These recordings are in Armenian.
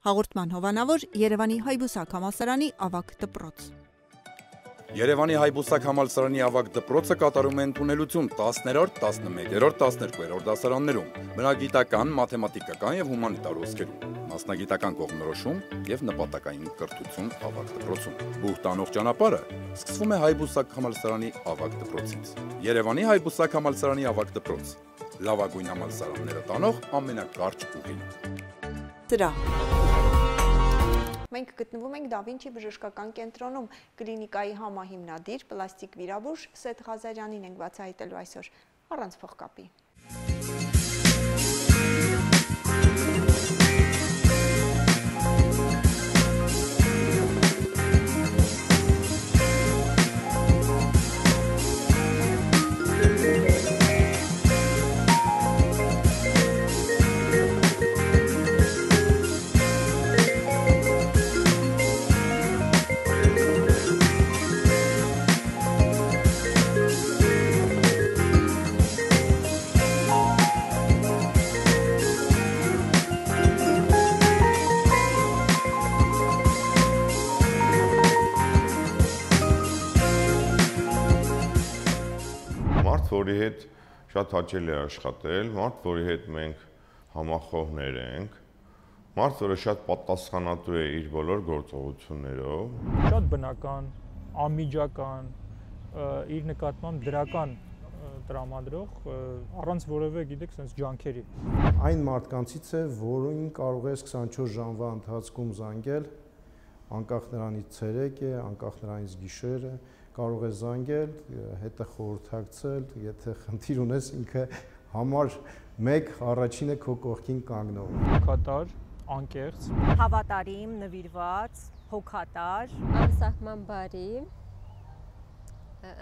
Հաղորդման հովանավոր Երևանի Հայբուսակ համալսարանի ավագ դպրոց։ Երևանի Հայբուսակ համալսարանի ավագ դպրոցը կատարում է ընդունելություն 10-րդ, 11-րդ, 12-րդ դասարաններում, բնագիտական, մաթեմատիկական և հումանիտար ոսկերում, մասնագիտական կողմնորոշում և նպատակային կրթություն ավագ դպրոցում։ Բուհ տանող ճանապարհը սկսվում է Հայբուսակ համալսարանի ավագ դպրոցից։ Երևանի Հայբուսակ համալսարանի ավագ դպրոց, լավագույն համալսարանները տանող ամենակարճ ուղին։ Մենք գտնվում ենք Դա Վինչի բժշկական կենտրոնում, կլինիկայի համահիմնադիր, պլաստիկ վիրաբույժ Սեթ Ղազարյանին ենք բացահայտելու այսօր, առանց փողկապի։ Որի հետ շատ հաճելի է աշխատել, մարդ, որի հետ մենք համախոհներ ենք, մարդ, որը շատ պատասխանատու է իր բոլոր գործողություններով։ Շատ բնական, անմիջական, իր նկատմամբ դրական տրամադրող, առանց որևէ, գիտեք, sense ջանքերի։ Այն մարդկանցից է, որին կարող ես 24 ժամվա ընթացքում զանգել, անկախ նրանից ցերեկ է, անկախ նրանից գիշեր է, կարող է զանգել, հետը խորհրդակցել, եթե խնդիր ունես, ինքը համար 1 առաջինը քո կողքին կանգնող։ Հոգատար, անկեղծ, հավատարիմ, նվիրված, հոգատար, անսահման բարի,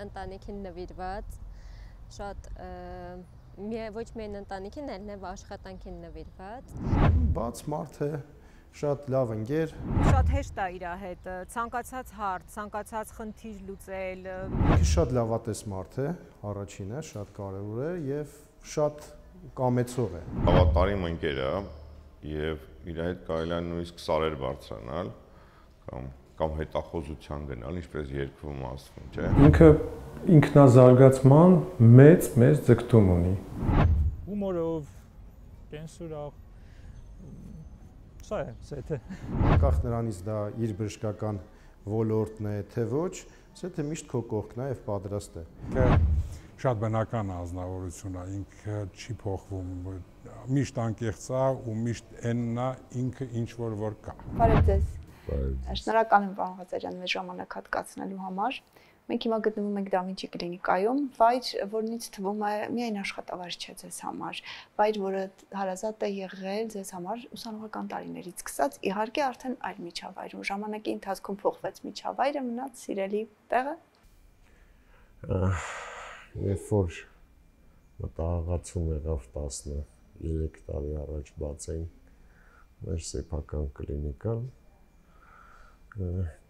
ընտանիքին նվիրված, շատ ոչ միայն ընտանիքին, այլև աշխատանքին նվիրված։ Բաց մարդ է, շատ լավ ընկեր։ Շատ հեշտ է իր հետ, ցանկացած հարց, ցանկացած խնդիր լուծել։ Ինքը շատ լավատես մարդ է, առաջինը, շատ կարևոր է եւ շատ կամեցող է։ Հավատարիմ ընկեր է եւ իր հետ կարելի է նույնիսկ սարեր բարձրանալ կամ հետախոզության գնալ, ինչպես երկվում ասվում, չէ։ Ինքը ինքնազարգացման մեծ ձգտում ունի։ Հումորով, կենսուրով Սա է, Սեթը։ Անկախ նրանից դա իր բժշկական ոլորտն է, թե ոչ, Սեթը միշտ քո կողքն է եւ պատրաստ է։ Շատ բնական ազնվորություն է, ինքը չի փոխվում, միշտ անկեղծ է ու միշտ այնն է, ինքը ինչ որ կա։ Բարև ձեզ։ Շնորհակալ եմ պարոն Ղազարյան մեզ ժամանակ հատկացնելու համար։ Մենք հիմա գտնվում ենք Դա Վինչի կլինիկայում, վայր, որնից թվում է միայն աշխատավարձ չէ ձեզ համար, վայր, որը հարազատ է եղել ձեզ համար ուսանողական տարիներից սկսած, իհարկե արդեն այլ միջավայրում, ժամանակի ընթացքում փոխվեց միջավայրը, մնաց սիրելի տեղը։ Երբ որ մտահղացում եղավ 13 տարի առաջ բացեին մեր սեփական կլինիկան,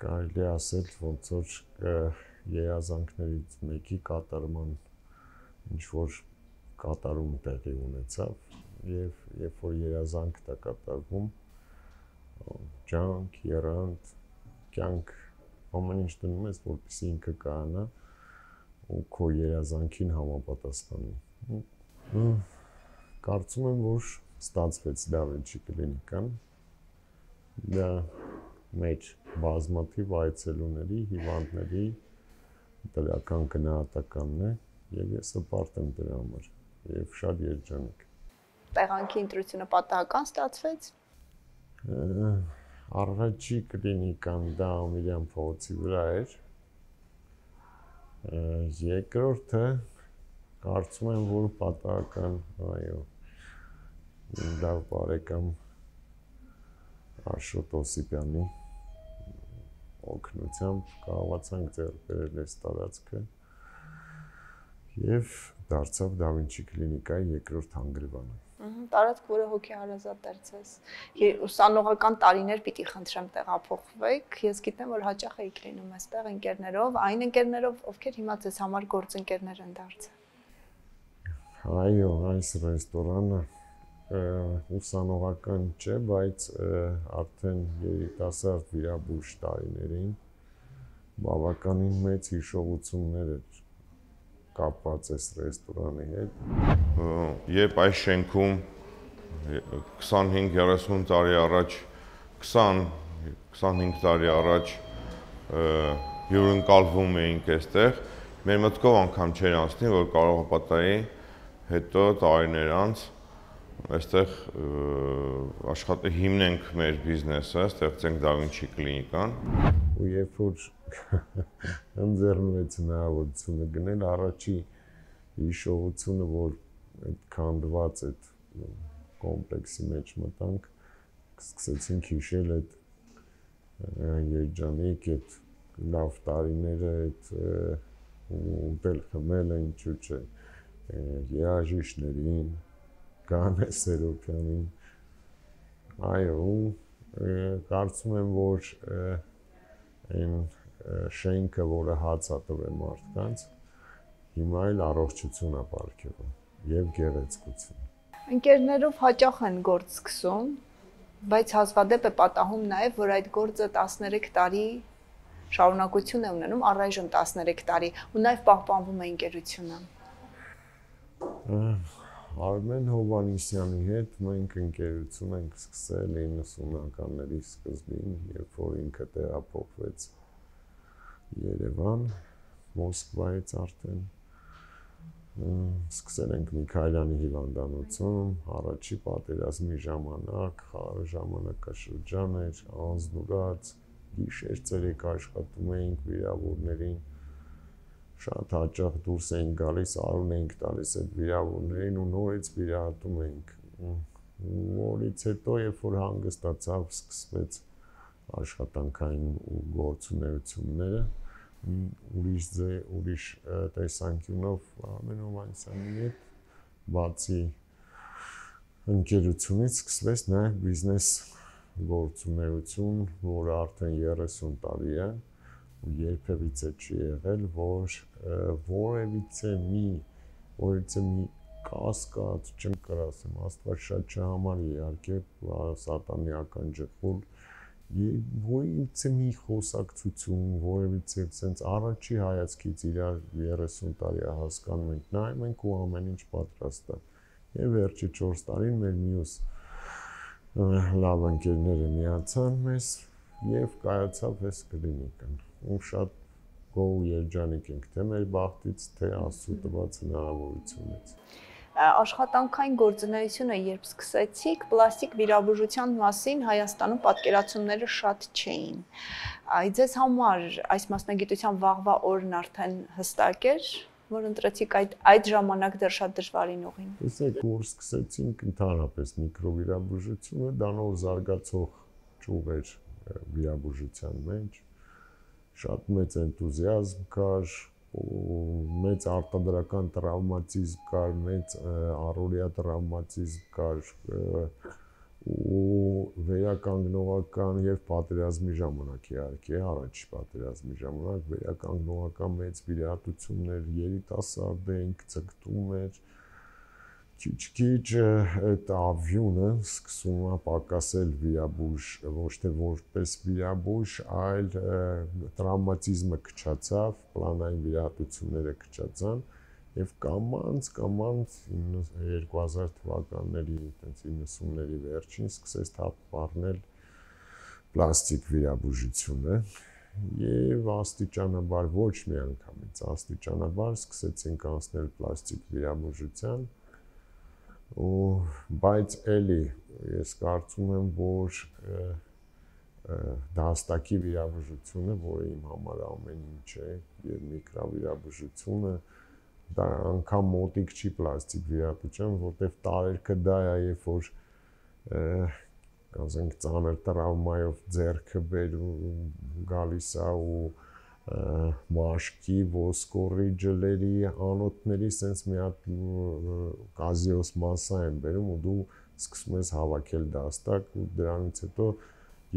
կարելի է ասել, ոնց որ երազանքներից մեկի կատարման ինչ-որ կատարում տեղի ունեցավ և երբ որ երազանքն է կատարվում, ջանք, եռանդ, կյանք, ամեն ինչ դնում ես, որպեսզի ինքը կայանա ու քո երազանքին համապատասխանի։ Կարծում եմ, որ ստացվեց Դա Վինչի կլինիկան, դա մեր բազմաթիվ այցելուների, հիվանդների դրական գնահատականն է եւ ես հպարտ եմ դրա համար եւ շատ երջանիկ։ Տեղանքի ընտրությունը պատահական ստացվեց։ Առաջի կլինիկան դա Ամիրյան փողոցի վրա էր։ Երկրորդը կարծում եմ, որ պատահական, այո, լավ բարեկամ Աշոտ Օսիպյանի օգնությամբ կարողացանք ձեռք բերել այս տարածքը եւ դարձավ Դա Վինչի կլինիկայի երկրորդ հանգրվանը։ Տարածք, որը հոգեհարազատ էր ձեզ։ Ուսանողական տարիներ պիտի խնդրեմ տեղափոխվեք։ Ես գիտեմ, որ հաճախ եք լինում այստեղ ընկերներով, այն ընկերներով, ովքեր հիմա ձեզ համար գործընկերներ են դարձել։ Այո, այս ռեստորանը ուսանողական չէ, բայց արդեն երիտասարդ վիրաբույժ տարիներին բավականին մեծ հիշողություններ էր կապված այս ռեստորանի հետ։ Երբ այս շենքում 25-30 տարի առաջ 20-25 տարի առաջ հյուրընկալվում էինք այստեղ, մեր մտքով անգամ չէր անցնի, որ կարող է պատահի հետո տարիներ անց այստեղ հիմնենք մեր բիզնեսը, ստեղծենք Da Vinci կլինիկան։ Ու երբ որ ընձեռնվեց հնարավորությունը գնել, առաջի հիշողությունը, որ այդ քանդված այդ կոմպլեքսի մեջ մտանք, սկսեցինք հիշել այդ երջանիկ, այդ լավ տարիները, այդ ուտել խմել է, ինչու՞ չէ, երաժիշտներին, Գանե Սերոբյանին, այո, կարծում եմ, որ այն շենքը, որը հաց է տվել մարդկանց, հիմա էլ առողջություն է պարգևում եւ գեղեցկություն։ Ընկերներով հաճախ են գործ սկսում, բայց հազվադեպ է պատահում նաեւ, որ այդ գործը 13 տարի շարունակություն է ունենում, առայժմ 13 տարի, ու նաեւ պահպանվում է ընկերությունը։ Արմեն Հովհաննիսյանի հետ մենք ընկերություն ենք սկսել 90-ականների սկզբին, երբ որ ինքը տեղափոխվեց Երևան, Մոսկվայից արդեն։ Սկսել ենք Միքայելյանի հիվանդանոցում, առաջի պատերազմի ժամանակ, խաղաղ ժամանակաշրջան էր, անձնուրաց, գիշեր ցերեկ աշխատում էինք վիրավորներին, շատ հաճախ դուրս էինք գալիս, արուն էինք տալիս այդ վիրավորներին ու նորից վիրահատում էինք։ Որից հետո, երբ որ հանգստացավ, սկսվեց աշխատանքային ու գործունեությունները, ուրիշ տեսանկյունով Արմեն Հովհաննիսյանի հետ բացի ընկերությունից սկսվեց նաև բիզնես գործունեություն, որը արդեն 30 տարի է, ու երբևիցե չի եղել, որ որևիցե մի կասկած, չեմ կարող ասեմ, Աստված շատ չհամարի իհարկե, սատանայական ջխուր, որևիցե մի խոսակցություն, որևիցե sense առաջի հայացքից իրար 30 տարի է հասկանում ենք, նայում ենք ու ամեն ինչ պատրաստ է։ Եվ վերջի 4 տարին մեր մյուս լավ ընկերները միացան մեզ եւ կայացավ այս կլինիկան։ Ու շատ գոհ ու երջանիկ ենք թե մեր բախտից, թե Աստծո տված հնարավորությունից։ Աշխատանքային գործունեությունը երբ սկսեցիք, պլաստիկ վիրաբուժության մասին Հայաստանում պատկերացումները շատ չէին։ Ձեզ համար այս մասնագիտության վաղվա օրն արդեն հստակ էր, որ ընտրեցիք այդ ժամանակ դեռ շատ դժվարին ուղին։ Տեսեք, որ սկսեցինք ընդհանրապես միկրովիրաբուժությունը, դանով զարգացող ճյուղ էր վիրաբուժության մեջ, շատ մեծ էնտուզիազմ կար, մեծ արտադրական տրավմատիզմ կար, մեծ առօրյա տրավմատիզմ կար ու վերականգնողական եւ պատերազմի ժամանակ իհարկե, առաջի պատերազմի ժամանակ վերականգնողական մեծ վիրահատություններ, երիտասարդ էինք, ցկտում էր, քիչ-քիչ այդ ավյունը սկսում է պակասել վիրաբույժ, ոչ թե որպես վիրաբույժ, այլ տրավմատիզմը քչացավ, պլանային վիրահատությունները քչացան եւ կամանց 2000 թվականների, այտենց 90-ների վերջին սկսեց թափ առնել պլաստիկ վիրաբուժությունը եւ աստիճանաբար ոչ մի անգամից, աստիճանաբար սկսեցինք անցնել պլաստիկ վիրաբուժության բայց էլի ես կարծում եմ, որ դաստակի վիրաբուժությունը, որը իմ համար ամեն ինչ է, եւ միկրովիրաբուժությունը, դա անգամ մոտիկ չի պլաստիկ վիրաբուժության, որտեղ տարերքը դա է, երբ որ ասենք ծանր տրավմայով ձեռքը գալիս է ու մաշկի, ոսկորի, ջլերի, անոթների սենց մի հատ կազիոս մասսա են բերում ու դու սկսում ես հավաքել դաստակ ու դրանից հետո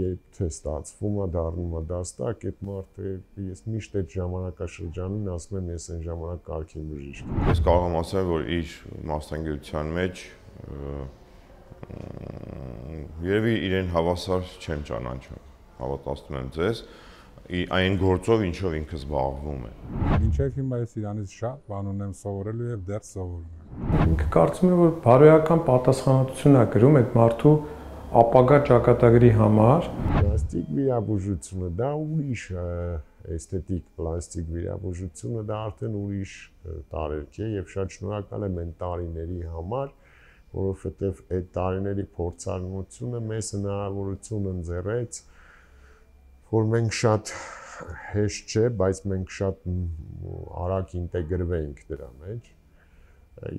երբ թե ստացվում է, դառնում է դաստակ, այդ մարդը ես միշտ այդ ժամանակաշրջանին ասում եմ ես այն ժամանակ կարգին բժիշկ եմ։ Ես կարող եմ ասել, որ իր մասնագիտության մեջ Երևի իրեն հավասար չեմ ճանաչում, հավատացնում եմ ձեզ, այն գործով ինչով ինքը զբաղվում է։ Մինչև հիմա ես իրանից շատ բան ունեմ սովորելու եւ դեռ սովորում եմ։ Ինքը կարծում եմ, որ բարոյական պատասխանատվություն է կրում այդ մարդու ապագա ճակատագրի համար։ Պլաստիկ վիրաբուժությունը դա ուրիշ էսթետիկ պլաստիկ վիրաբուժությունը դա արդեն ուրիշ տարերք է եւ շատ շնորհակալ եմ այն տարիների համար, որովհետեւ այդ տարիների փորձառնությունը մեզ հնարավորություն ընձեռեց, որ մենք շատ հեշտ չէ, բայց մենք շատ արագ ինտեգրվենք դրա մեջ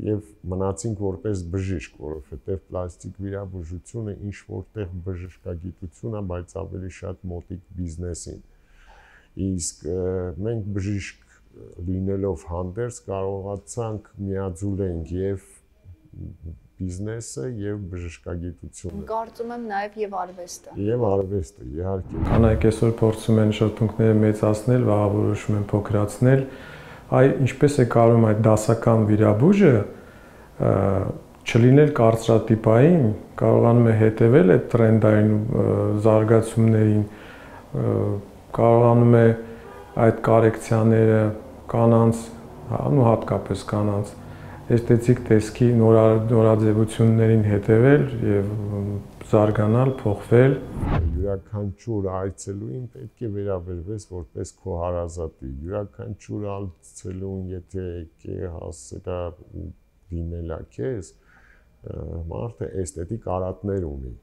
եւ մնացինք որպես բժիշկ, որովհետեւ պլաստիկ վիրաբուժությունը ինչ որտեղ բժշկագիտություն է, բայց ավելի շատ մոտիկ բիզնեսին։ Իսկ մենք բժիշկ լինելով հանդերձ կարողացանք միաձուլենք եւ բիզնեսը եւ բժշկագիտությունը։ Կարծում եմ նաեւ եւ արվեստը։ Եվ արվեստը, իհարկե։ Կանայք այսօր փորձում են շրթունքները մեծացնել, վաղավորոշում են փոքրացնել, ինչպես է կարում այդ դասական վիրաբույժը չլինել կարծրատիպային, կարողանում է հետևել այդ տրենդային զարգացումներին, կարողանում է այդ կորեկցիաները կանանց, ու հատկապես կանանց էսթետիկ տեսքի նորաձևություններին հետևել եւ զարգանալ, փոխվել։ Յուրաքանչյուր այցելուին պետք է վերաբերվես որպես քո հարազատի։ Յուրաքանչյուր այցելուն, եթե եկե հասցրա ու դիմելա քեզ, մարդը էսթետիկ արատներ ունի։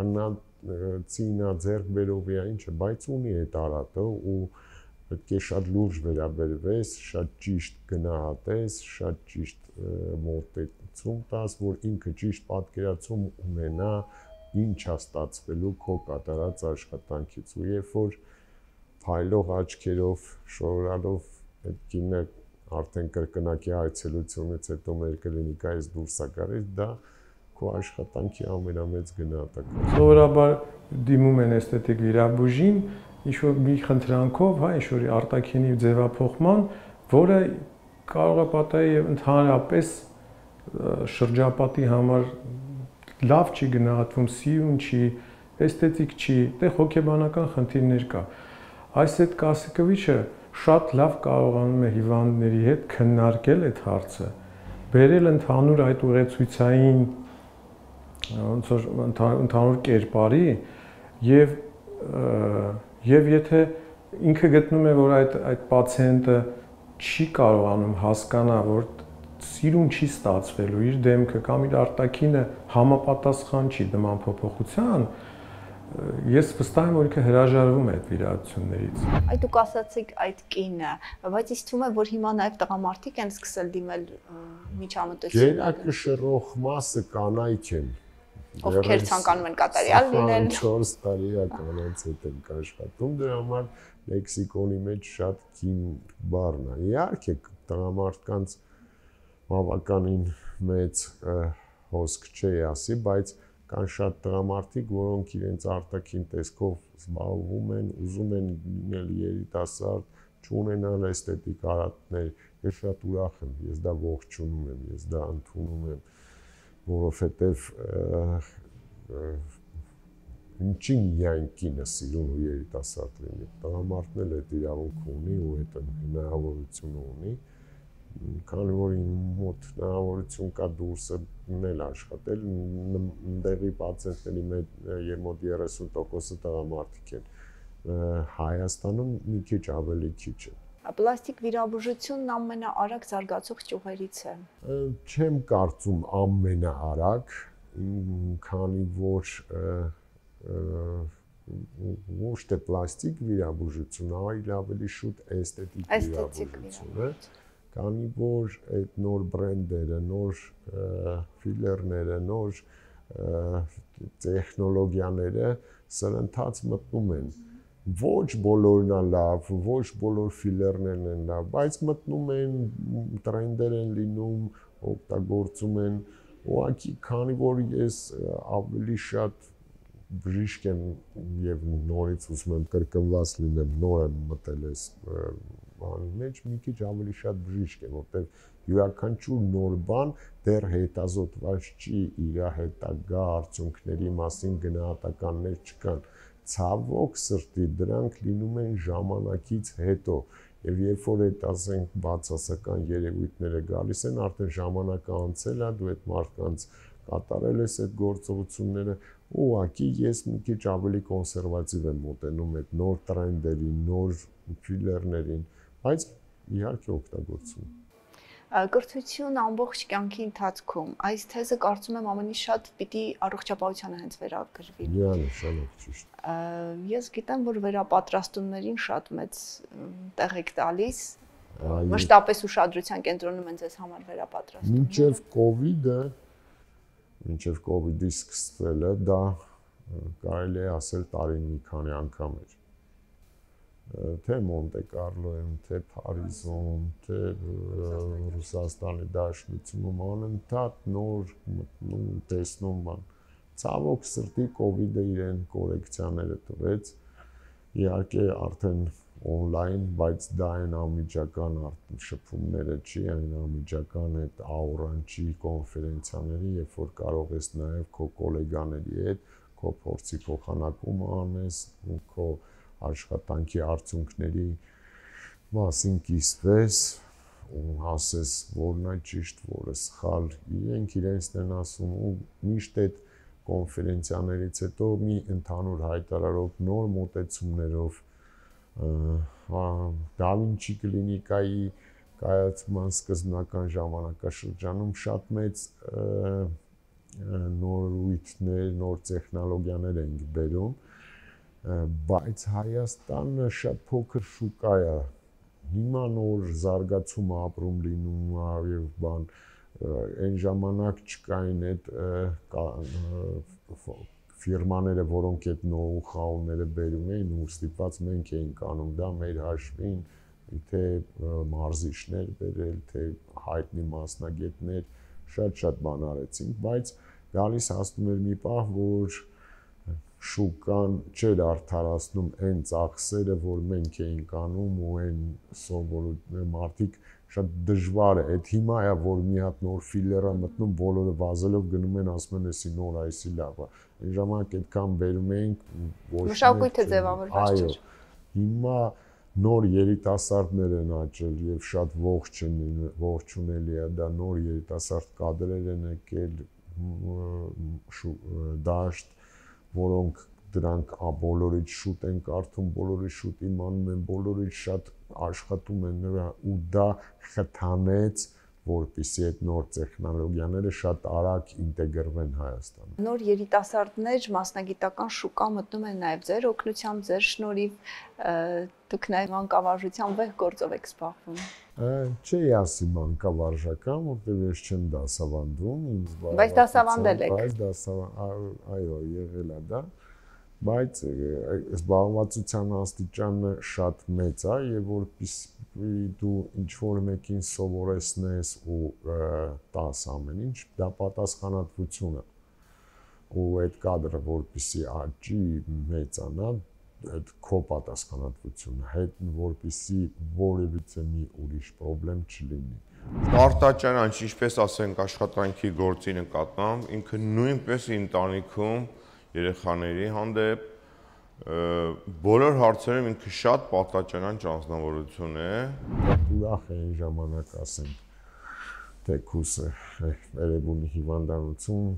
Բնածինա ձեռք բերով է ինչը, բայց ունի այդ արատը ու պետք է շատ լուրջ վերաբերվես, շատ ճիշտ գնահատես, շատ ճիշտ մոտեցում տաս, որ ինքը ճիշտ պատկերացում ունենա ինչ է ստացվելու քո կատարած աշխատանքից ու երբ որ փայլող աչքերով շորալով այդ կինը արդեն կրկնակի այցելությունից հետո մեր կլինիկայից դուրս է գալիս, դա քո աշխատանքի ամենամեծ գնահատակը։ Սովորաբար դիմում են էսթետիկ վիրաբույժին ինչ-որ մի խնդրանքով, հա, ինչ-որ արտաքինի ձևափոխման, որը կարող է պատահի եւ ընդհանրապես շրջապատի համար լավ չի գնահատվում, սիրուն չի, էսթետիկ չի, դե հոգեբանական խնդիրներ կա։ Այս այդ Կասիկովիչը շատ լավ կարողանում է հիվանդների հետ քննարկել այդ հարցը, բերել ընդհանուր այդ ուղեցույցային ոնց որ ընդհանուր կերպարի եւ եթե ինքը գտնում է, որ այդ պացիենտը չի կարողանում հասկանա, որ սիրուն չի ստացվելու իր դեմքը կամ իր արտաքինը համապատասխան չի նման փոփոխության, ես վստահ եմ, որ ինքը հրաժարվում է այդ վիրահատություններից։ Այդ դուք ասացիք այդ կինը, բայց ինձ թվում է, որ հիմա նաև տղամարդիկ են սկսել դիմել միջամտություն։ Գերակշռող մասը կանայք են։ Ովքեր ցանկանում են կատարյալ լինել։ 4 տարի կանանց հետ են աշխատում, դրա համար լեքսիկոնի մեջ շատ կին բառն է։ Իհարկե տղամարդկանց բավականին մեծ հոսք չի ասի, բայց կան շատ տղամարդիկ, որոնք իրենց արտաքին տեսքով զբաղվում են, ուզում են լինել երիտասարդ, չունենալ էսթետիկ արատներ։ Ես շատ ուրախ եմ, ես դա ողջունում եմ, ես դա ընդունում եմ, որովհետև ինչին միայն կինը սիրուն ու երիտասարդ լինի, տղամարդն էլ այդ իրավունքը ունի ու այդ հնարավորությունը ունի, քանի որ մոտ հնարավորություն կա դուրսը մնել աշխատել, ընդեղի պացիենտների մոտ 30%-ը տղամարդիկ են, Հայաստանում մի քիչ ավելի քիչ է։ Պլաստիկ վիրաբուժությունն ամենաարագ զարգացող ճյուղերից է։ Չեմ կարծում ամենաարագ, քանի որ ոչ թե պլաստիկ վիրաբուժություն, այլ ավելի շուտ էսթետիկ վիրաբուժություն է, քանի որ այդ նոր բրենդերը, նոր ֆիլերները, նոր տեխնոլոգիաները սրընթաց մտնում են։ Ոչ բոլորն է լավ, ոչ բոլոր ֆիլերներն են լավ, բայց մտնում են, տրենդեր են լինում, օգտագործում են, ուղղակի քանի որ ես ավելի շատ բժիշկ եմ եւ նորից ուզում եմ կրկնված լինեմ, նոր եմ մտել այս բանի մեջ մի քիչ ավելի շատ բժիշկ է, որտեղ յուրաքանչյուր նոր բան դեռ հետազոտված չի, իր հետագա արդյունքների մասին գնահատականներ չկան։ Ցավոք սրտի դրանք լինում են ժամանակից հետո, եւ երբ որ այդ ասենք բացասական երևույթները գալիս են, արդեն ժամանակը անցել է, դու այդ մարդկանց կատարել ես այդ գործողությունները, ուղղակի ես մի քիչ ավելի կոնսերվատիվ եմ մոտենում այդ նոր տրենդերին, նոր ֆիլերներին, բայց իհարկե օգտագործում։ Կրթություն ամբողջ կյանքի ընթացքում այս թեզը կարծում եմ ամենից շատ պիտի առողջապահությանը հենց վերագրվի։ Միանշանակ ճիշտ։ Ես գիտեմ, որ վերապատրաստումներին շատ մեծ տեղ եք տալիս, մշտապես ուշադրության կենտրոնում են ձեզ համար վերապատրաստումը։ Մինչև COVID-ի սկսվելը դա կարելի է ասել տարին մի քանի անգամ էր։ Թե Մոնտե Կարլոյում, թե Փարիզում, թե Ռուսաստանի Դաշնությունում անընդհատ նոր մտնում, տեսնում բան։ Ցավոք սրտի COVID-ը իրեն կորեկցիաները տվեց։ Իհարկե արդեն on-line, բայց դա այն անմիջական շփումները չի, այն անմիջական այդ աուրան չի կոնֆերենցիաների, երբ որ կարող ես նաև քո գոլեգաների հետ քո փորձի փոխանակումը անես, քո աշխատանքի արդյունքների մասին կիսվես ու ասես որն է ճիշտ, որը սխալ, իրենք իրենցն են ասում ու միշտ այդ կոնֆերենցիաներից հետո մի ընդհանուր հայտարարով նոր մոտեցումներով Դա Վինչի կլինիկայի կայացման սկզբնական ժամանակաշրջանում շատ մեծ նորույթներ, նոր տեխնոլոգիաներ են բերում, բայց Հայաստանը շատ փոքր շուկա է։ Հիմա նոր զարգացում ապրում լինում եւ բան, այն ժամանակ չկային այդ ֆիրմաները, որոնք այդ նոու-խաուները բերում էին ու ստիպված մենք էինք անում դա մեր հաշվին, թե մարզիչներ բերել, թե հայտնի մասնագետներ, շատ բան արեցինք, բայց գալիս հասնում էր մի պահ, որ շուկան չէր արդարացնում այն ծախսերը, որ մենք էինք անում ու այն սովորույթները մարդիկ շատ դժվար է, այդ հիմա է, որ մի հատ նոր ֆիլերը մտնում, բոլորը վազելով գնում են, ասում են, էսի նոր, այսի լավ է, այն ժամանակ այդքան բերում էինք, մշակույթը ձևավորված չէր։ Հիմա նոր երիտասարդներ են աճել եւ շատ ողջունելի է, դա նոր երիտասարդ կադրեր են եկել դաշտ, որոնք դրանք բոլորից շուտ են կարդում, բոլորից շուտ իմանում են, բոլորից շատ աշխատում են ու դա խթանեց, որպեսզի այդ նոր տեխնոլոգիաները շատ արագ ինտեգրվեն Հայաստանում։ Նոր երիտասարդներ մասնագիտական շուկա մտնում են նաև ձեր օգնությամբ, ձեր շնորհիվ, դուք նաև մանկավարժության վեհ գործով եք զբաղվում։ Չի ասի մանկավարժական, որտեղ ես չեմ դասավանդում, բայց դասավանդել եք։ Բայց այո, եղել է դա, բայց զբաղվածության աստիճանը շատ մեծ է եւ որպեսզի դու ինչ-որ մեկին սովորեցնես ու տաս ամեն ինչ, դա պատասխանատվություն է։ Ու այդ կադրը որպեսզի աճի, մեծանա, այդ քո պատասխանատվությունը, հետ որպեսզի որևիցե մի ուրիշ խնդրեմ չլինի։ Արտաճանաչ, ինչպես ասենք աշխատանքի գործի նկատմամբ, ինքը նույնպես ընտանիքում երեխաների հանդեպ բոլոր հարցերում ինքը շատ պատաճանաչ անձնավորություն է։ Ուրախ է այն ժամանակ ասենք, թե քուսը Երևանի հիվանդանոցում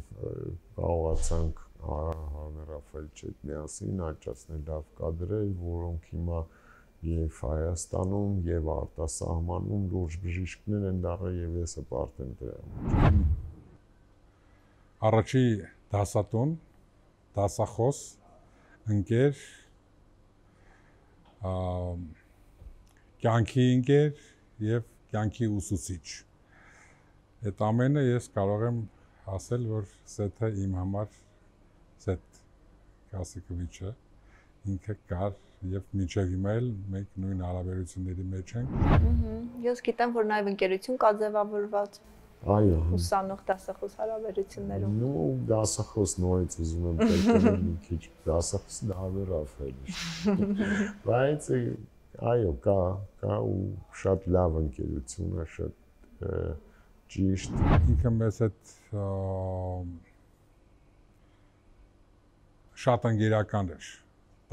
կարողացանք հանրապետի հետ միասին աճացնել լավ կադրեր, որոնք հիմա եւ Հայաստանում եւ արտասահմանում լուրջ բժիշկներ են դառել եւ ես հպարտ եմ դրա։ Առաջի դասատուն, դասախոս, ընկեր, կյանքի ընկեր եւ կյանքի ուսուցիչ։ Այդ ամենը ես կարող եմ ասել, որ սեթը իմ համար Սեթ Կասիկովիչը ինքը կար եւ մինչեւ հիմա էլ մենք նույն հարաբերությունների մեջ ենք։ Ես գիտեմ, որ նաեւ ընկերություն կա ձևավորված։ Այո։ Ուսանող դասախոս հարաբերություններում։ Ну, դասախոս նորից ուզում եմ տեսնել մի քիչ դասախոս դավերավ էլի։ Բայց այո, կա ու շատ լավ ընկերություն է, շատ ճիշտ։ Ինքը մեզ հետ շատ ընկերական էր։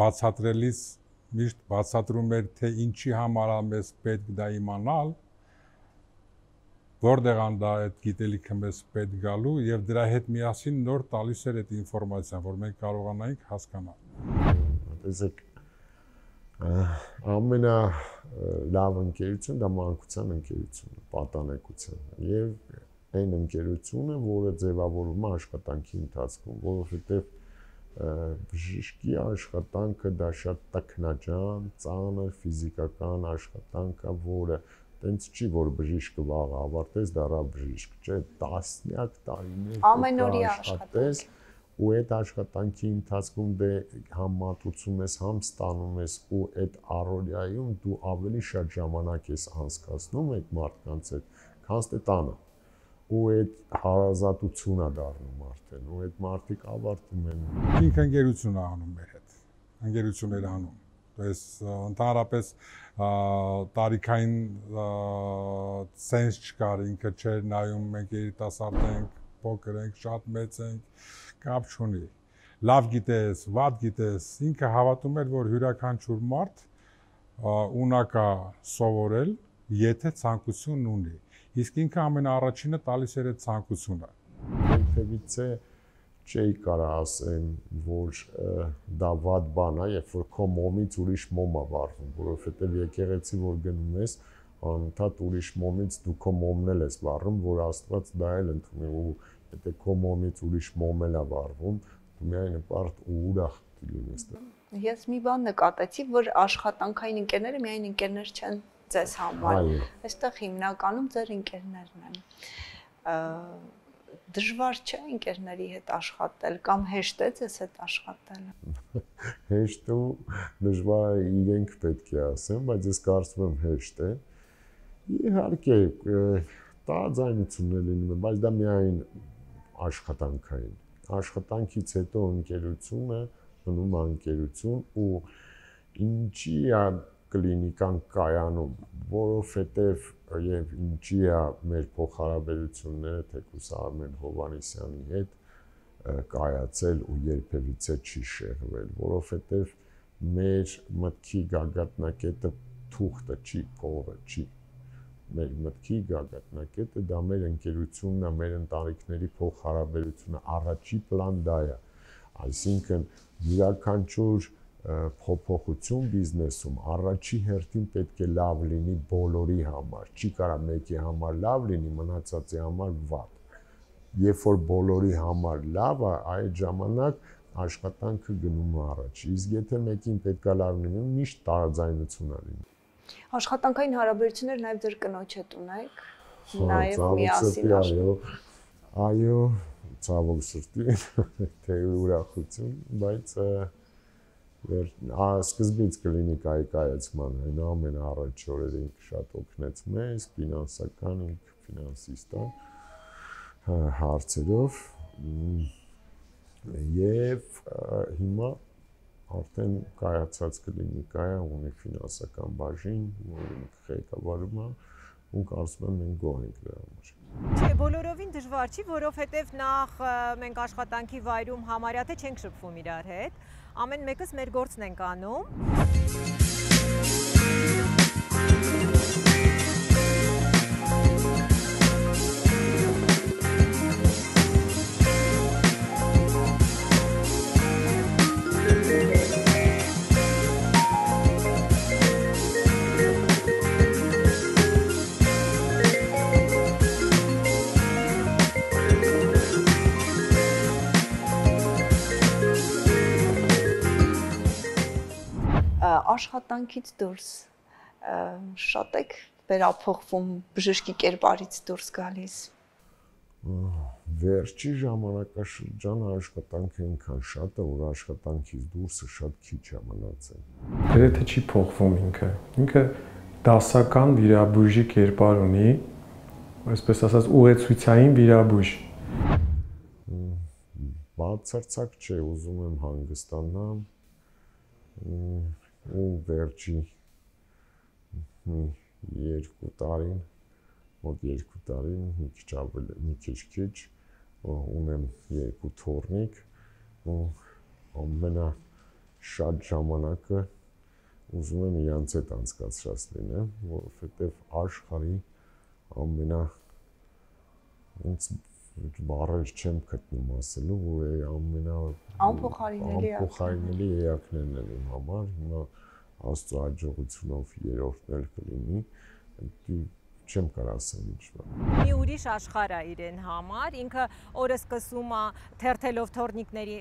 Բացատրելիս միշտ բացատրում էր, թե ինչի համար է մեզ պետք դա իմանալ, որտեղ ան դա այդ գիտելիքը մեզ պետք գալու եւ դրա հետ միասին նոր տալիս էր այդ ինֆորմացիան, որ մենք կարողանայինք հասկանալ։ Տեսեք, ամենա լավ ընկերություն դա մանկության ընկերությունն է, պատանեկության եւ այն ընկերությունը, որը ձևավորվում է աշխատանքի ընթացքում, որովհետեւ բժշկի աշխատանքը դա շատ տքնաջան, ծանր ֆիզիկական աշխատանք է, որը տենց չի, որ բժիշկը վաղ ավարտես, դառա բժիշկ, չէ, տասնյակ տարիներ ամենօրյա աշխատես ու այդ աշխատանքի ընթացքում դե համ մատուցում ես, համ ստանում ես ու այդ առօրյայում դու ավելի շատ ժամանակ ես անցկացնում այդ մարդկանց հետ, քան թե տանը։ Ու այդ հարազատություն է դառնում արդեն, ու այդ մարդիկ ավարտում են։ Ինքը ընկերություն է անում մեր հետ, ընկերություններ անում։ Այս ընդհանրապես տարիքային սենս չկար, ինքը չէր նայում, մենք երիտասարդ ենք, փոքր ենք, շատ մեծ ենք, կապ չունի։ Լավ գիտես, վատ գիտես, ինքը հավատում էր, որ յուրաքանչյուր մարդ ունակ է սովորել, եթե ցանկություն ունի։ Իսկ ինքը ամենաառաջինը տալիս էր այդ ցանկությունը։ Երբևիցե չէի կարող ասեմ, որ դա վատ բան է, երբ որ քո մոմից ուրիշ մոմ է վառվում, որովհետև եկեղեցի որ գնում ես, անընդհատ ուրիշ մոմից դու քո մոմն էլ ես վառում, որ Աստված դա էլ ընդունի, ու եթե քո մոմից ուրիշ մոմ էլ է վառվում, դու միայն պարտ ու ուրախ լինես։ Ես մի բան նկատեցի, որ աշխատանքային ընկերները միայն ընկերներ չեն ձեզ համար։ Այստեղ հիմնականում ձեր ընկերներն են։ Դժվար չէ ընկերների հետ աշխատել կամ հեշտ է ձեզ հետ աշխատելը։ Հեշտ ու դժվար իրենք պետք է ասեն, բայց ես կարծում եմ հեշտ է։ Իհարկե, տարաձայնություններ լինում են, բայց դա միայն աշխատանքային։ Աշխատանքից հետո ընկերությունը մնում է ընկերություն ու ինչի է կլինիկան կայանում, որովհետև եւ ինչի է մեր փոխհարաբերությունները թեկուզ Արմեն Հովհաննիսյանի հետ կայացել ու երբևիցե չի շեղվել, որովհետև մեր մտքի գագաթնակետը թուղթը չի, փողը չի։ Մեր մտքի գագաթնակետը դա մեր ընկերությունն է, մեր ընտանիքների փոխհարաբերությունը, առաջի պլան դա է։ Այսինքն յուրաքանչյուր փոփոխություն բիզնեսում առաջի հերթին պետք է լավ լինի բոլորի համար, չի կարող մեկի համար լավ լինի, մնացածի համար վատ։ Երբ որ բոլորի համար լավ է, այդ ժամանակ աշխատանքը գնում է առաջ։ Իսկ եթե մեկին պետք է լավ լինի, միշտ տարաձայնություն է լինում։ Աշխատանքային հարաբերություններ նաև ձեր կնոջ հետ ունեք, նաև միասին աշխատում։ Այո, ցավոք սրտի, թե ուրախություն, բայց սկզբից կլինիկայի կայացման այն ամենաառաջի օրերին շատ օգնեց մեզ, ֆինանսական, ֆինանսիստ է հարցերով եւ հիմա արդեն կայացած կլինիկայը ունի ֆինանսական բաժին, ղեկավարում է ու կարծում եմ մենք գոհ ենք դրա համար։ Չէ, բոլորովին դժվար չի, որովհետև նախ մենք աշխատանքի վայրում համարյա թե չենք շփվում իրար հետ, ամեն մեկս մեր գործն ենք անում։ Աշխատանքից դուրս շատ եք վերափոխվում, բժշկի կերպարից դուրս գալիս։ Վերջի ժամանակաշրջանը աշխատանքը այնքան շատ է, որ աշխատանքից դուրսը շատ քիչ է մնացել։ Գրեթե չի փոխվում ինքը։ Ինքը դասական վիրաբույժի կերպար ունի, այսպես ասած ուղեցույցային վիրաբույժ։ Բացարձակ չէ, ուզում եմ հանգստանամ ու վերջի 2 տարին, մոտ 2 տարին, մի քիչ ունեմ 2 թոռնիկ ու ամենաշատ ժամանակը ուզում եմ իրանց հետ անցկացրած լինեմ, որովհետև աշխարհի բառեր չեմ գտնում ասելու, որ անփոխարինելի էակներն են իմ համար, հիմա Աստծո հաջողությունով 3-րդն էլ կլինի, չեմ կարող ասել ինչ բան։ Մի ուրիշ աշխարհ է իրեն համար, ինքը օրը սկսում է թերթելով թորնիկների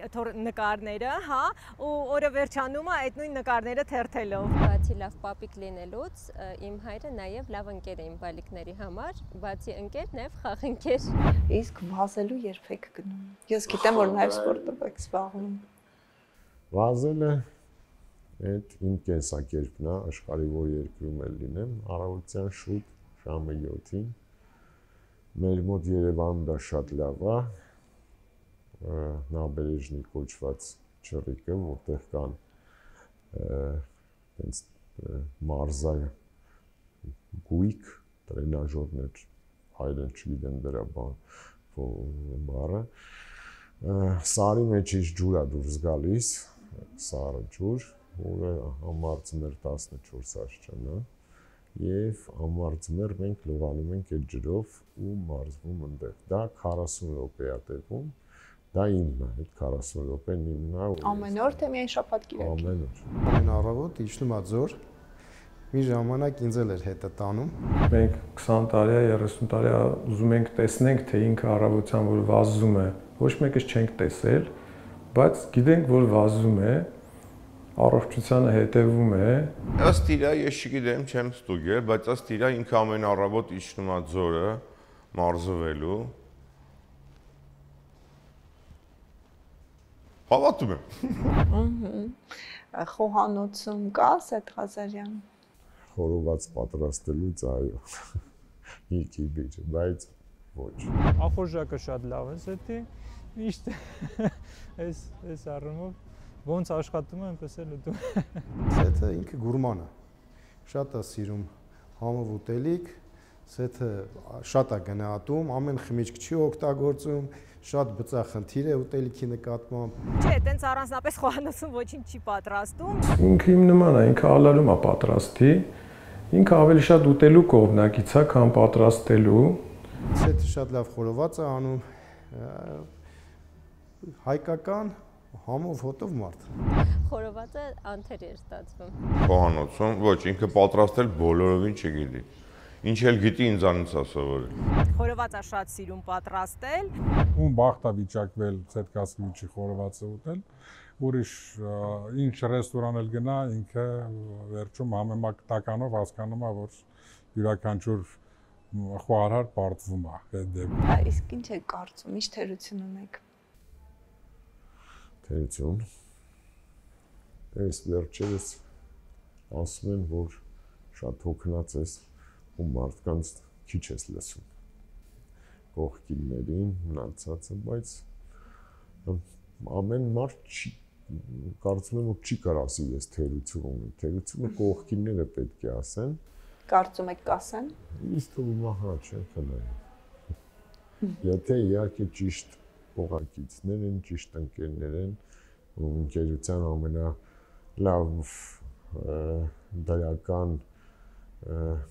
նկարները, հա, ու օրը վերջանում է այդ նույն նկարները թերթելով։ Բացի լավ պապիկ լինելուց, իմ հայրը նաև լավ ընկեր է իմ բալիկների համար, բացի ընկեր, նաև խաղընկեր։ Իսկ վազելու երբ եք գնում։ Ես գիտեմ, որ նաև սպորտով եք զբաղվում։ Վազելը այդ իմ կենսակերպն է, աշխարհի որ երկրում էլ լինեմ, առավոտյան շուտ ժամը 7-ին։ Մեր մոտ Երևանում դա շատ լավ է, նաբերեժնի կոչված չռիկը, որտեղ կան տենց մարզայ գույք, տրենաժորներ, հայերեն չգիտեմ դրա բառը, սարի մեջ iš ջուր է դուրս գալիս, սարը ջուր, որը ամարձում էր 14 աստիճան է, և ամարձմեր մենք լողանում ենք այդ ջրով ու մարզվում ընդեղ։ Դա 40 րոպե է տևում, դա իմն է, այդ 40 րոպեն իմն է։ Ամեն օր թե միայն շաբաթ-կիրակ։ Ամեն օր։ Ամեն առավոտ իջնում ա ձոր, մի ժամանակ ինձ էլ էր հետը տանում։ Մենք 20 տարի է, 30 տարի է ուզում ենք տեսնենք, թե ինքը առավոտյան որ վազում է, ոչ մեկս չենք տեսել, բայց գիտենք, որ վազում է, առողջությանը հետևում է։ Ըստ իրա ես չգիտեմ, չեմ ստուգել, բայց ըստ իրա ինքը ամեն առավոտ իջնում է ձորը մարզվելու։ Հավատում եմ։ Խոհանոցում կա Սեթ Ղազարյան։ Խորոված պատրաստելուց այո։ Մի քիչ, բայց ոչ։ Ախորժակը շատ լավ է Սեթի։ Միշտ այս առումով ոնց աշխատում է, այնպես էլ ուտում։ Սեթը ինքը գուրման է։ Շատ է սիրում համով ուտելիք, Սեթը շատ է գնահատում, ամեն խմիչք չի օգտագործում, շատ բծախնդիր է ուտելիքի նկատմամբ։ Չէ, տենց առանձնապես խոհանոցում ոչինչ չի պատրաստում։ Ինքը իմ նման է, ինքը ալարում է պատրաստի, ինքը ավելի շատ ուտելու կողմնակից է, քան պատրաստելու։ Սեթը շատ լավ խորոված է անում, հայկական համով հոտով մարդ։ Խորովածը անթեր էր ստացվում։ Խոհանոցում, ոչ, ինքը պատրաստել բոլորովին չգիտի։ Ինչ էլ գիտի ինձանից է սովորել։ Խորովածը շատ սիրում պատրաստել։ Ում բախտ է վիճակվել Ցետկասկիվիչի խորովածը ուտել, ուրիշ ինչ ռեստորան էլ գնա, ինքը վերջում համեմատականով հասկանում է, որ յուրաքանչյուր խոհարար պարտվում է այդ դեպքում։ Իսկ ինչ եք կարծում, ինչ թերություն ունեք։ Թերություն։ Այս վերջերս ասում են, որ շատ հոգնած ես ու մարդկանց քիչ ես լսում։ Կողքիններին, մնացածը, բայց ամեն մարդ չի կարծում եմ, որ չի կարող ասի ես թերություն ունեմ։ Թերությունը կողքինները պետք է ասեն։ Կարծում եք կասեն։ Ինձ թվում է, հա, չեմ խնայում։ Եթե իհարկե ճիշտ փողակիցներ են, ճիշտ ընկերներ են, ու ընկերության ամենալավ դրական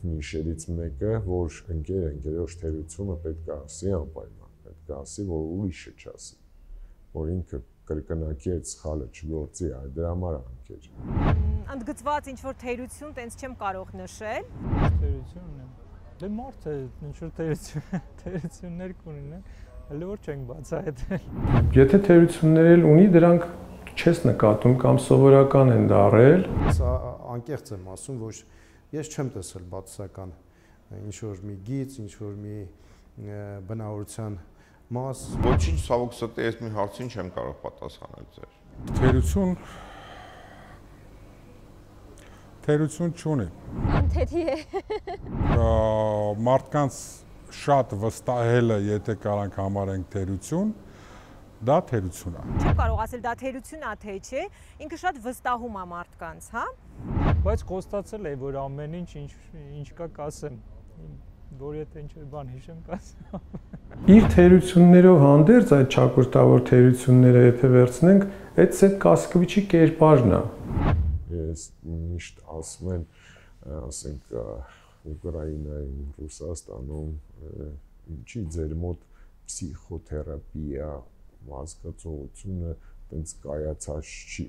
նիշերից մեկը, որ ընկերոջ թերությունը պետք է ասի անպայման, պետք է ասի, որ ուրիշը չասի, որ ինքը կրկնակի այդ սխալը չգործի, այդ դրա համար է ընկեր։ Ընդգծված ինչ-որ թերություն տենց չեմ կարող նշել։ Թերություն ունեմ։ Դե մարդ է, ինչ-որ թերություններ կունենա, հələ որ չենք բացահայտել։ Եթե թերություններ էլ ունի, դրանք չես նկատում կամ սովորական են դարել։ Ես անկեղծ եմ ասում, որ ես չեմ տեսել բացասական ինչ-որ մի գիծ, ինչ-որ մի բնավորության մաս։ Ոչինչ ցավոք սրտի ես մի հարցին չեմ կարող պատասխանել ձեր։ Թերություն չունի։ Անթերի է։ Մարդկանց շատ վստահելը, եթե կարանք համարենք թերություն, դա թերություն է։ Չեմ կարող ասել դա թերություն է, թե չէ, ինքը շատ վստահում է մարդկանց, հա։ Բայց խոստացել էի, որ ամեն ինչ կա կասեմ, որ եթե ինչ-որ բան հիշեմ կասեմ։ Իր թերություններով հանդերձ այդ ճակատավոր թերությունները եթե վերցնենք, այդ Սեթ Կասկվիչի կերպարն է։ Ես միշտ ասում եմ, ասենք Ուկրաինայում, Ռուսաստանում, ինչի ձեր մոտ պսիխոթերապիա հասկացողությունը տենց կայացած չի։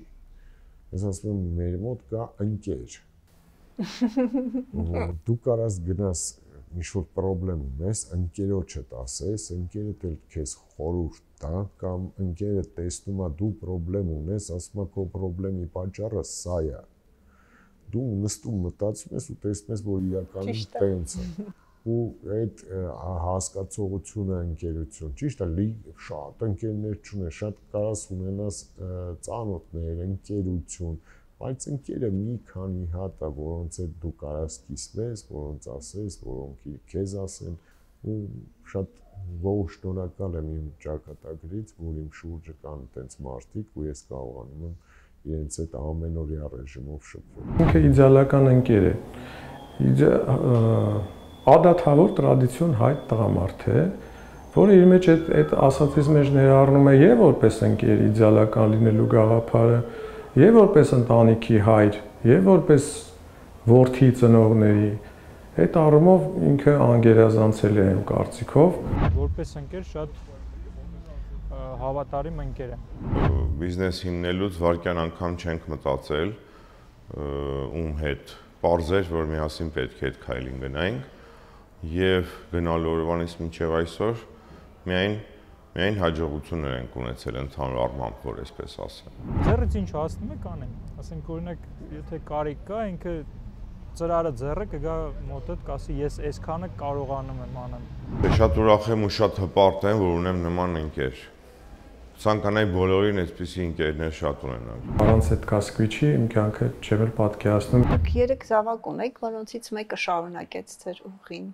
Ես ասում եմ, մեր մոտ կա ընկեր։ Դու կարաս գնաս ինչ-որ պրոբլեմ ունես, ընկերոջդ ասես, ընկերդ էլ քեզ խորհուրդ տա, կամ ընկերը տեսնում է դու պրոբլեմ ունես, ասում է քո պրոբլեմի պատճառը սա է։ Դու նստում մտածում ես ու տեսնում ես, որ իրականում տենց է։ Ու այդ հասկացողությունը ընկերություն, ճիշտ է, շատ ընկերներ չունես, շատ կարաս ունենաս ծանոթներ, ընկերություն, բայց ընկերը մի քանի հատ է, որոնց հետ դու կարաս կիսվես, որոնց ասես, որոնք քեզ ասեն, ու շատ ողջ շնորհակալ եմ իմ ճակատագրից, որ իմ շուրջը կան այդպես մարդիկ, ու ես կարողանում եմ իրենց հետ ամենօրյա ռեժիմով շփվել։ Ինքը իդեալական ընկեր է։ Ադաթավոր տրադիցիոն հայ տղամարդ է, որը իր մեջ այդ ասածից մեջ ներառնում է եւ որպես ընկեր իդեալական լինելու գաղափարը, եւ որպես ընտանիքի հայր, եւ որպես որդի ծնողների, այդ առումով ինքը անգերազանցել է իմ կարծիքով։ Որպես ընկեր շատ հավատարիմ ընկեր եմ։ Բիզնես հիմնելուց վարկյան անգամ չենք մտածել ում հետ։ Պարզեր, որ միասին պետք է այդ քայլին գնայինք եւ գնալու օրվանից մինչեւ այսօր միայն հաջողություններ ենք ունեցել ընդհանուր առմամբ, որ այսպես ասեմ։ Ձեռից ինչ հասնում է կանեմ։ Ասենք օրինակ, եթե կարիք կա, ինքը ծրարը ձեռը կգա մոտդ, կասի ես այսքանը կարողանում եմ անեմ։ Շատ ուրախ եմ ու շատ հպարտ եմ, որ ունեմ նման ընկեր։ Ցանկանայի բոլորին այսպիսի ընկերներ շատ ունենալ։ Առանց այդ Կասկվիչի իմ կյանքը չեմ էլ պատկերացնում։ Դուք 3 զավակ ունեք, որոնցից մեկը շարունակեց ձեր ուղին։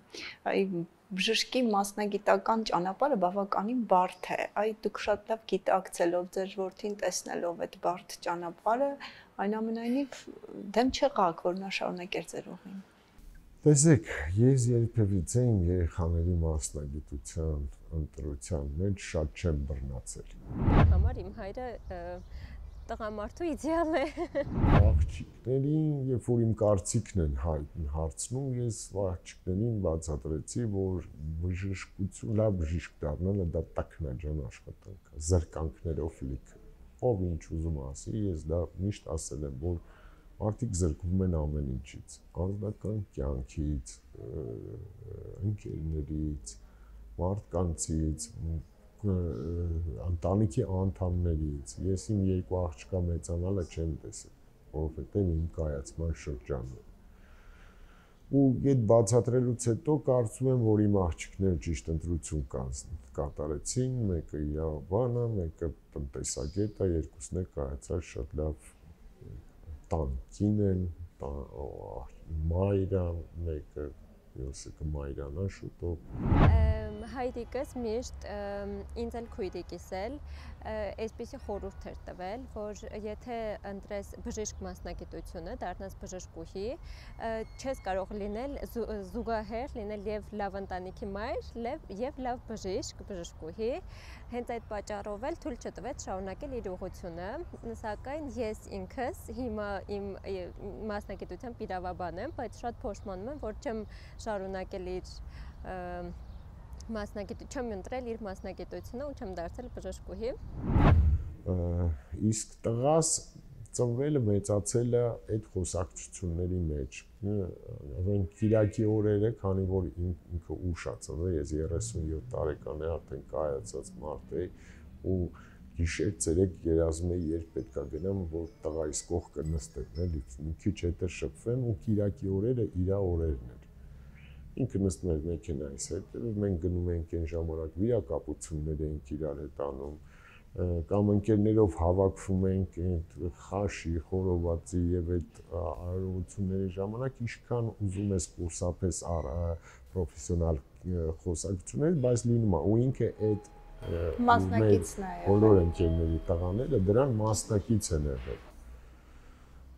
Բժշկի մասնագիտական ճանապարհը բավականին բարդ է։ Դուք շատ լավ գիտակցելով ձեր որդին տեսնելով այդ բարդ ճանապարհը, այնուամենայնիվ դեմ չեղաք, որ նա շարունակեր ձեր ուղին։ Տեսեք, ես երբևիցե իմ երեխաների մասնագիտության ընտրության մեջ շատ չեմ բռնացել։ Համար իմ հայրը տղամարդու իդեալ է։ Աղջիկներին, երբ որ իմ կարծիքն են հարցնում, ես աղջիկներին բացատրեցի, որ բժշկություն, լավ բժիշկ դառնալը դա տակնաջան աշխատանք է, զրկանքներով լիք։ Ով ինչ ուզում ասի, ես դա միշտ ասել եմ, որ մարդիկ զրկվում են ամեն ինչից, անձնական կյանքից, ընկերներից, մարդկանցից, ընտանիքի անդամներից։ Ես իմ 2 աղջկա մեծանալը չեմ տեսել, որովհետև իմ կայացման շրջանը։ Ու այդ բացատրելուց հետո կարծում եմ, որ իմ աղջիկները ճիշտ ընտրություն կատարեցին, մեկը իր բանը, մեկը տնտեսագետ է, երկուսն էլ կայացած շատ լավ տան կին են, մայր է, մեկը յոսիկը մայրանա շուտով։ Հայրիկս միշտ ինձ էլ քույրի կիսել, այսպիսի խորհուրդ էր տվել, որ եթե ընտրես բժիշկ մասնագիտությունը, դառնաս բժշկուհի, չես կարող լինել զուգահեռ լինել եւ լավ ընտանիքի մայր, եւ լավ բժշկուհի, հենց այդ պատճառով էլ թույլ չտվեց շարունակել իր ուղղությունը, սակայն ես ինքս հիմա իմ մասնագիտությամբ իրավաբան եմ, բայց շատ փոշմանում եմ, որ չեմ շարունակել իր չեմ ընտրել իր մասնագիտությունը ու չեմ դարձել բժշկուհի։ Իսկ տղաս ծնվելը մեծացել է այդ խոսակցությունների մեջ։ Այն Կիրակի օրերը, քանի որ ինքը ուշ է ծնվել, ես 37 տարեկան եմ, արդեն կայացած մարդ եմ, ու գիշեր ցերեկ երազում եմ, երբ պետք է գնամ, որ տղայիս կողքը նստեմ, էլի, մի քիչ հետո շփվեմ, ու Կիրակի օրերը իր օրերն են։ Ինքը նստում էր մեքենայից հետ, մենք գնում ենք այն ժամանակ վիրակապություններ էինք իրար հետ անում, կամ ընկերներով հավաքվում ենք խաշի, խորովածի եւ այդ արարողությունների ժամանակ ինչքան ուզում ես կուրսապես պրոֆեսիոնալ խոսակցություններ, բայց լինում է ու ինքը այդ մասնակիցն է բոլոր ընկերների տղաները դրան մասնակից են եղել։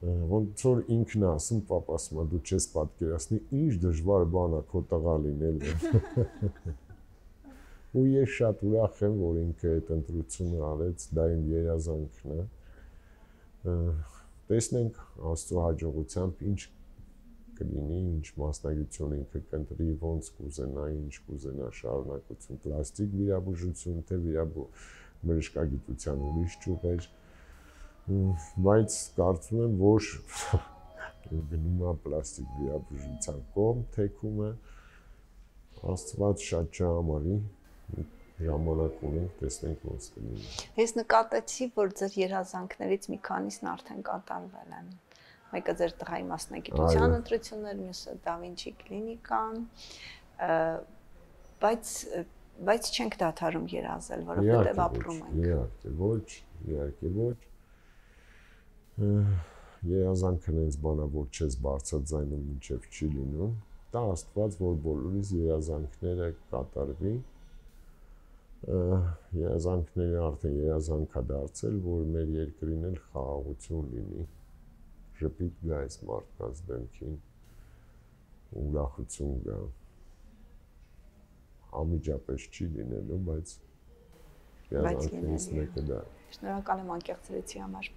ոնց որ ինքն ասում, պապաս մա դու չես պատկերացնի, ինչ դժվար բան է քո տղա լինելը։ Ու ես շատ ուրախ եմ, որ ինքը այդ ընտրությունը արեց, դա իմ երազանքն է։ Տեսնենք Աստծո հաջողությամբ ինչ կլինի, ինչ մասնագիտություն ինքը կընտրի, ոնց կուզենա, ինչ կուզենա շարունակություն, պլաստիկ վիրաբուժություն, թե բժշկագիտության ուրիշ ճյուղեր, բայց կարծում եմ, որ գնում է պլաստիկ վիրաբուժության կողմ, թեքում է, Աստված շատ չհամարի, ժամանակ ունենք, տեսնենք ոնց կլինի։ Ես նկատեցի, որ ձեր երազանքներից մի քանիսն արդեն կատարվել են։ Մեկը ձեր տղայի մասնագիտության ընտրություններ, մյուսը Da Vinci կլինիկան, բայց չենք դադարում երազել, որովհետև ապրում ենք։ Իհարկե ոչ։ Երազանքն այնց բանա, որ չես բարձրաձայնում, մինչև չի լինում։ Դա Աստված, որ բոլորիս երազանքները կատարվի։ Երազանքները արդեն երազանք է դարձել, որ մեր երկրին էլ խաղաղություն լինի։ Ժպիտ գա այս մարդկանց դեմքին, ուրախություն գա։ Անմիջապես չի լինելու, բայց երազանքներից մեկը դա։ Շնորհակալ եմ անկեղծրեցի համար։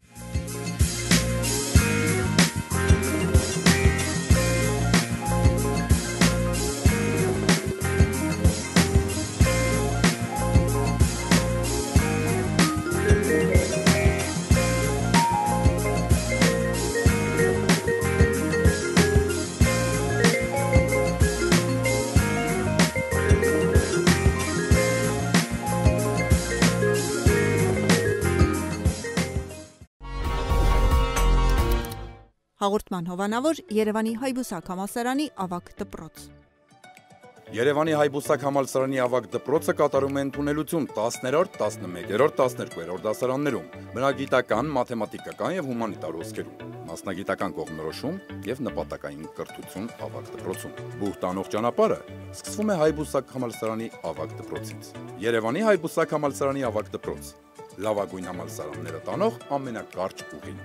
Հաղորդման հովանավոր Երևանի Հայբուսակ համալսարանի ավագ դպրոց։ Երևանի Հայբուսակ համալսարանի ավագ դպրոցը կատարում է ընդունելություն 10-րդ, 11-րդ, 12-րդ դասարաններում, բնագիտական, մաթեմատիկական եւ հումանիտար ոսկերում, մասնագիտական կողմնորոշում եւ նպատակային կրթություն ավագ դպրոցում։ Բուհ տանող ճանապարհը սկսվում է Հայբուսակ համալսարանի ավագ դպրոցից։ Երևանի Հայբուսակ համալսարանի ավագ դպրոց, լավագույն համալսարանները տանող ամենակարճ ուղին։